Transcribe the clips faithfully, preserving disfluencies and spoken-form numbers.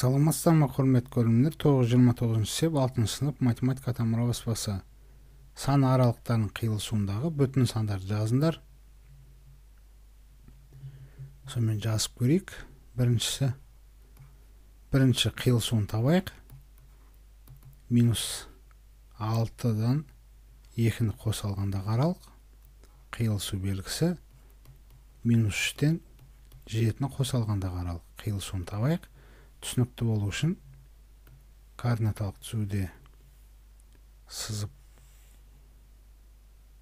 Саламатсыздарбы құрметті көрермендер. тогуз жүз жыйырма тогузунчу сеп алтынчы сынып математика тамыра баспасы сан аралыктарынын кыйылышуундагы бүтүн сандарды жазыңдар. Сонымен жазып көрейік. Биринчisi биринчи кыйылышуун табайык. Минус алтыдан экини коса алгандагы аралык. Кыйылышуу белгиси минус үчтөн жетини коса алгандагы аралык. Кыйылышууну табайык. Түшүнүктүү болуу үчүн координаталык түзүүдө сызып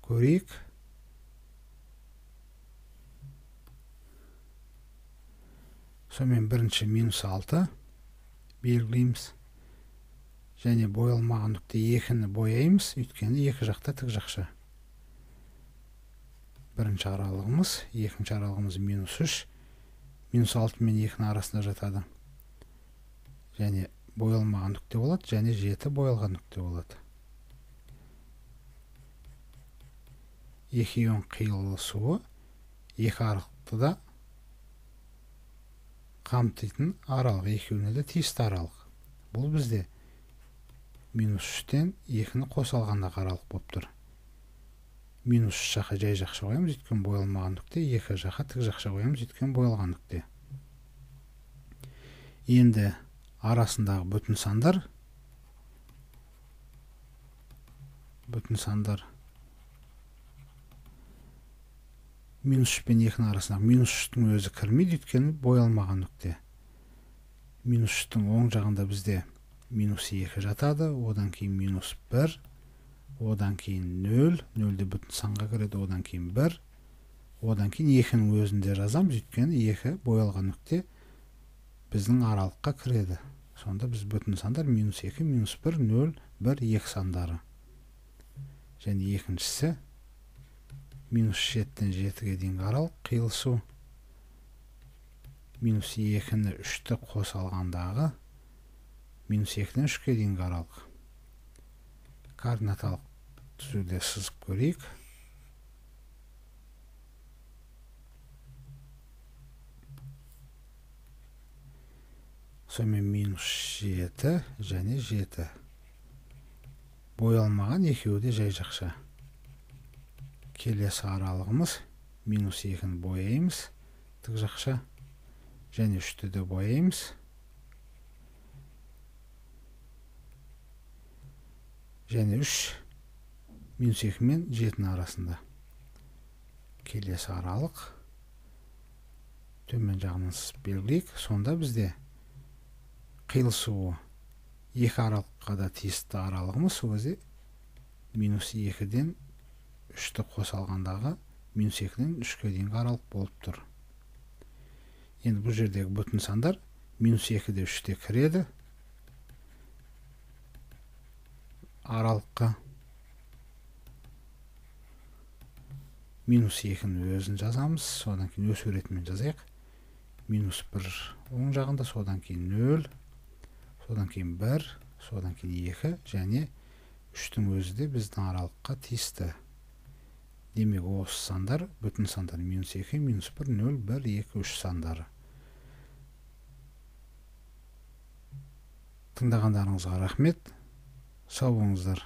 көрейик. Сонымен биринчи минус алты белгилейбиз. Және боялмаган нүкте экини бояйбыз, өйткөнү эки жакта тик жакшы. Биринчи аралыгыбыз, экинчи аралыгыбыз минус үч. Минус алты менен экинин арасында жатады. Және боялмаган нүкте болот, және жети боялган нүкте болот. Экиөнүн кыйылышуу эки аралыкты да камтыйтын аралык, экөөнү да тийиштүү аралык. Бул бизде минус үчтөн экини коса алгандагы аралык болуптур. Минус үч жака жай жакша коебуз, өйткөнү боялмаган нүкте, эки жака тик жакша коебуз, өйткөнү боялган нүкте. Энди арасындагы бүтүн сандар бүтүн сандар минус үч менен экинин арасында минус үчтүн өзү кирмейт, өйткөнү боялмаган нүкте. Минус үчтүн оң жагында бизде минус эки жатады, одан кийин минус бир, одан кийин нөл, нөлдө бүтүн санга кирет, одан кийин бир, одан кийин экинин өзүндө жазамыз, өйткөнү эки боялган нүкте биздин аралыкка киреді. Сонда биз бүтүн сандар минус эки, минус бир, нөл, бир, эки сандары. Және экинчisi минус жетиден жетиге дейинки аралык кыйылышуу. Минус экини үчтө коса алгандагы минус экиден үчкө дейинки аралык. Координаталык түзүүдө сызып көрейик. Сонымен минус жети және жети. Боялмаган экөөү да жай жакша. Келесі аралыгыбыз минус экини бояйбыз, тик жакша. Және үчтү да бояйбыз. Және үч минус эки менен жетинин арасында. Келесі аралык төмөн жагынан сызып белгилейик. Сонда бизде кыйылышуу эки аралыкка да тийиштүү аралыгыбыз өзү минус экиден үчтү коса алгандагы минус экиден үчкө дейинки аралык болуптур. Енді бұл жердегі бүтін сандар минус экиде үчте кіреді. Аралыққа минус экинин өзін жазамыз, содан кейін өсу ретімен жазайық. Минус бир оң жағында, содан кейін нөл, содан кейін бир, содан кейін эки, және үчтің өзі де біздің аралыққа тийісті. Демек, осы сандар, бүтін сандар минус эки, минус бир, нөл, бир, эки, үч сандары. Тыңдағандарыңызға рахмет. Сау болыңыздар.